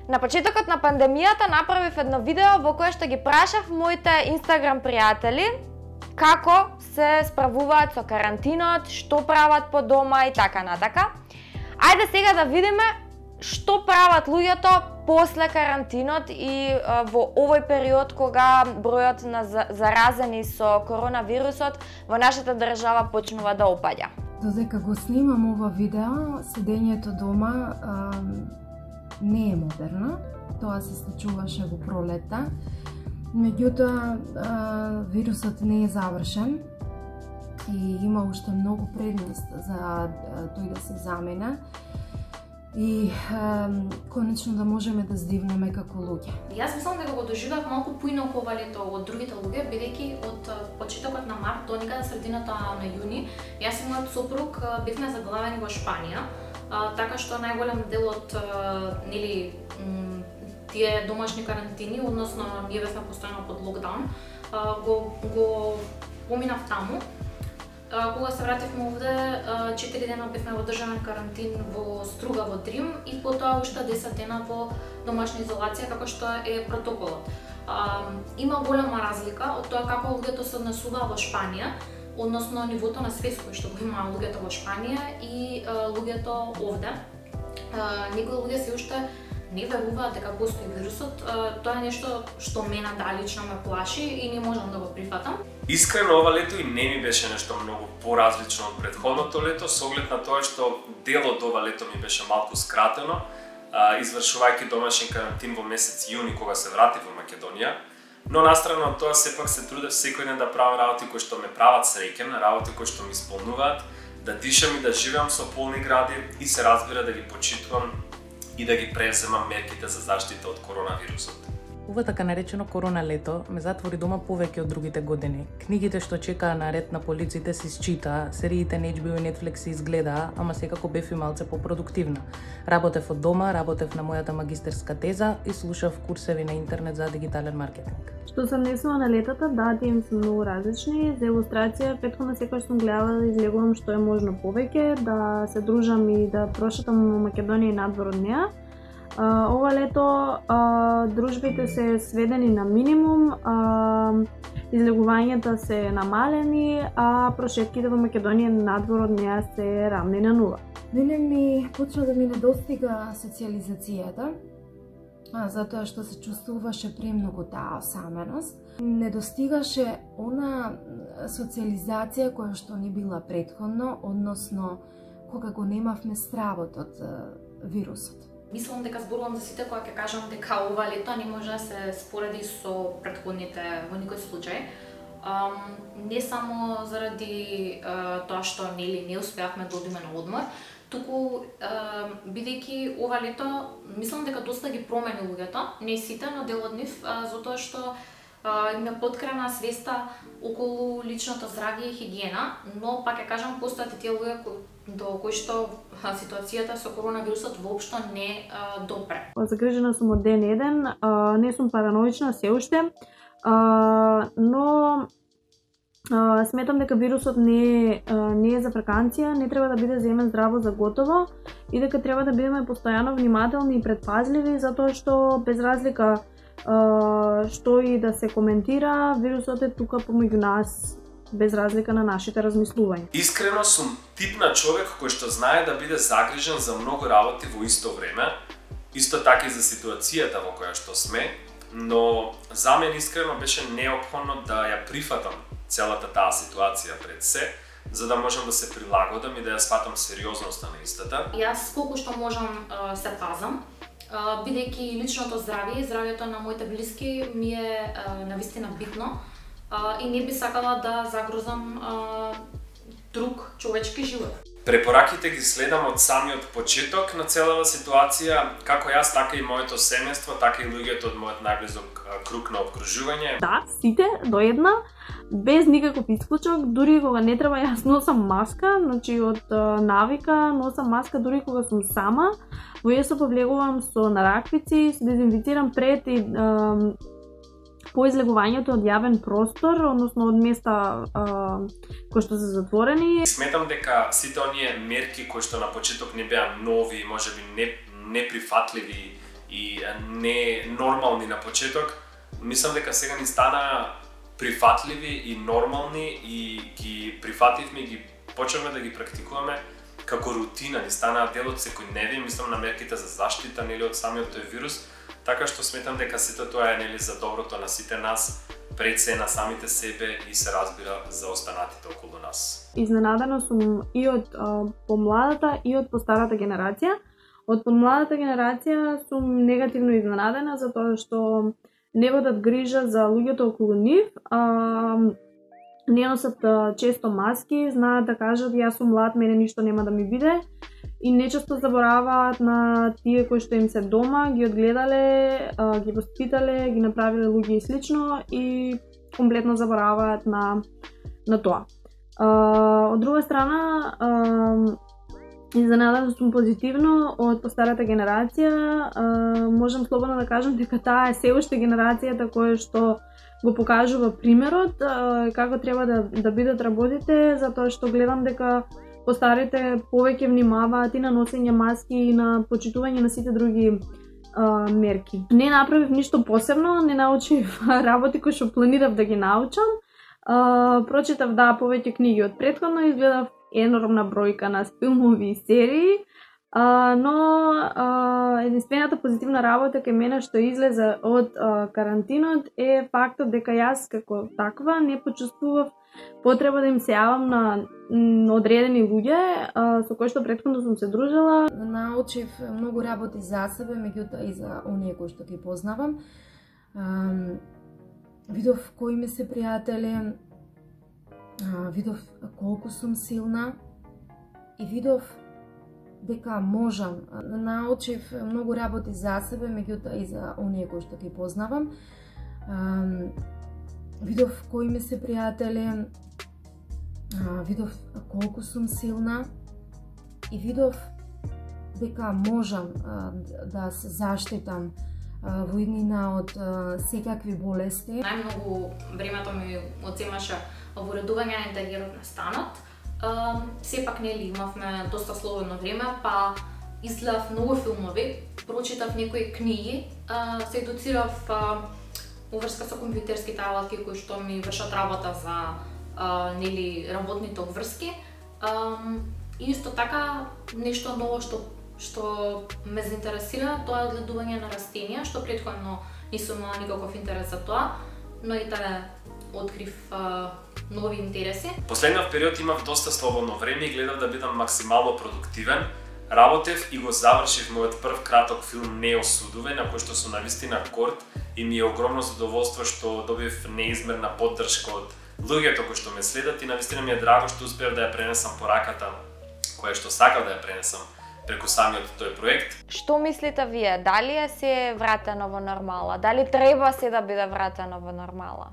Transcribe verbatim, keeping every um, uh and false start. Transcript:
На почетокот на пандемијата направив едно видео во кое што ги прашав моите Инстаграм пријатели како се справуваат со карантинот, што прават по дома и така натака. Ајде сега да видиме што прават луѓето после карантинот и а, во овој период кога бројот на заразени со коронавирусот во нашата држава почнува да опаѓа. Додека го снимам ова видео, седењето дома а, не е модерно. Тоа се случуваше во пролетта. Меѓутоа, вирусот не е завршен и има уште многу предност за тој да се замена и а, конечно да можеме да здивнеме како луѓе. Јас мислам дека го доживеав малку поинаку ова лето од другите луѓе, бидејќи од почетокот на март до некаде средината на јуни, јас и мојот сопруг бевме заглавени во Шпанија, а, така што најголем дел од нели тие домашни карантини, односно ние бевме постојано под локдаун, а, го го поминав таму. Кога се вративме овде, четири дена бевме во државен карантин во Струга во Дрим и потоа уште десет дена во домашна изолација како што е протоколот. Има голема разлика од тоа како луѓето се однесуваат во Шпанија, односно нивото на свест кој што го има луѓето во Шпанија и луѓето овде. Некои луѓе се уште не веруваат дека постои вирусот. Тоа е нешто што мене далично ме плаши и не можам да го прифатам. Искрено, ова лето и не ми беше нешто многу поразлично од претходното лето, со оглед на тоа што дел од ова лето ми беше малку скратено, извршувајќи домашен карантин во месец јуни кога се вратив во Македонија. Но настрана од тоа сепак се трудев секој ден да правам работи кои што ме прават среќен, работи кои што ми исполнуваат, да дишам и да живеам со полни гради и се разбира да ги почитувам и да ги преземам мерките за заштита од коронавирусот. Ова така наречено корона лето ме затвори дома повеќе од другите години. Книгите што чекаа на ред на полиците се считаа, сериите на Ейч Би О и Netflix се изгледаа, ама секако бев и малце попродуктивна. Работев од дома, работев на мојата магистерска теза и слушав курсеви на интернет за дигитален маркетинг. Што се однесува на летата, да, тие се многу различни. За илустрација, претходно секогаш сум гледала да излегувам што е можно повеќе, да се дружам и да прошетам Македонија и надвор од неа. Uh, ова лето uh, дружбите се сведени на минимум, uh, излегувањата се намалени, а прошетките во Македонија надвор од неа се рамни на нула. Мене ми почна да ми недостига социализацијата, а, затоа што се чувствуваше премногу таа осаменост. Недостигаше она социализација која што не била претходно, односно кога го немавме стравот од вирусот. Мислам дека зборувам за сите кога ќе кажам дека ова лето не може да се спореди со претходните во никој случај. Um, не само заради uh, тоа што нели не успеавме да одиме на одмор, туку uh, бидејќи ова лето мислам дека доста ги промени луѓето, не сите, но дел од нив, uh, затоа што uh, им е поткрена свеста околу личното здравје и хигиена, но пак ќе кажам постојат и тие луѓе кои до кои што ситуацијата со коронавирусот воопшто не а, допре. Загрижена сум од ден еден, а, не сум параноична се уште, а, но а, сметам дека вирусот не, а, не е за фраканција, не треба да биде земен здраво за готово и дека треба да бидеме постојано внимателни и предпазливи, затоа што без разлика а, што и да се коментира, вирусот е тука помеѓу нас, без разлика на нашите размислувања. Искрено сум тип на човек кој што знае да биде загрижен за многу работи во исто време, исто така и за ситуацијата во која што сме, но за мен искрено беше неопходно да ја прифатам целата таа ситуација пред се, за да можам да се прилагодам и да ја сватам сериозноста на истата. Јас колку што можам се пазам, бидејќи личното здравје и здравјето на моите блиски ми е навистина битно. Uh, и не би сакала да загрозам uh, друг човечки живот. Препораките ги следам од самиот почеток на целава ситуација, како јас, така и моето семејство, така и луѓето од мојот најблизок круг на обкружување. Да, сите до една, без никаков исклучок, дури кога не треба јас носам маска, значи од uh, навика носам маска дури кога сум сама, во ја се повлегувам со нараквици, се дезинфицирам пред и uh, по излегувањето од јавен простор, односно од места а, кои што се затворени. Сметам дека сите оние мерки кои што на почеток не беа нови, можеби не неприфатливи и не нормални на почеток, мислам дека сега ни стана прифатливи и нормални и ги прифативме и ги почнавме да ги практикуваме како рутина, ни станаа дел од секојдневие, мислам на мерките за заштита нели од самиот тој вирус, така што сметам дека сето тоа е нели за доброто на сите нас, пред се на самите себе и се разбира за останатите околу нас. Изненадена сум и од а, помладата и од постарата генерација. Од помладата генерација сум негативно изненадена затоа што не водат грижа за луѓето околу нив, а, не носат а, често маски, знаат да кажат јас сум млад, мене ништо нема да ми биде и нечесто забораваат на тие кои што им се дома, ги одгледале, а, ги воспитале, ги направиле луѓе и слично и комплетно забораваат на, на тоа. А, од друга страна, а, изненадена сум позитивно од постарата генерација. А, можам слободно да кажам дека таа е се уште генерацијата која што го покажува примерот а, како треба да, да бидат работите, затоа што гледам дека постарите повеќе внимаваат и на носење маски и на почитување на сите други а, мерки. Не направив ништо посебно, не научив работи кои што планирав да ги научам. А, прочитав да повеќе книги од претходно, изгледав енормна бројка на филмови и серии, а, но а, единствената позитивна работа кај мене што излезе од а, карантинот е фактот дека јас како таква не почувствував потреба да им се јавам на м, одредени луѓе а, со кои што претходно сум се дружела. Научив многу работи за себе, меѓутоа и за оние кои што ги познавам. А, видов кои ми се пријатели, а, видов колку сум силна и видов дека можам. Научив многу работи за себе, меѓутоа и за оние кои што ги познавам. А, видов кои ми се пријатели, а, видов колку сум силна и видов дека можам а, да се заштитам а, во иднина од а, секакви болести. Најмногу времето ми одземаше во уредување на интериерот на станот. Uh, сепак нели имавме доста слободно време, па изгледав многу филмови, прочитав некои книги, uh, се едуцирав uh, уврска со компјутерските алатки кои што ми вршат работа за uh, нели работните уврски. Um, и исто така нешто ново што што ме заинтересира, тоа е одгледување на растенија, што претходно не сум имала никаков интерес за тоа, но и таа открив uh, нови интереси. Последниот период имав доста слободно време и гледав да бидам максимално продуктивен. Работев и го завршив мојот прв краток филм Неосудове, на кој што сум навистина горд и ми е огромно задоволство што добив неизмерна поддршка од луѓето кои што ме следат и навистина ми е драго што успеав да ја пренесам пораката која што сакав да ја пренесам преку самиот тој проект. Што мислите вие? Дали е се вратено во нормала? Дали треба се да биде вратено во нормала?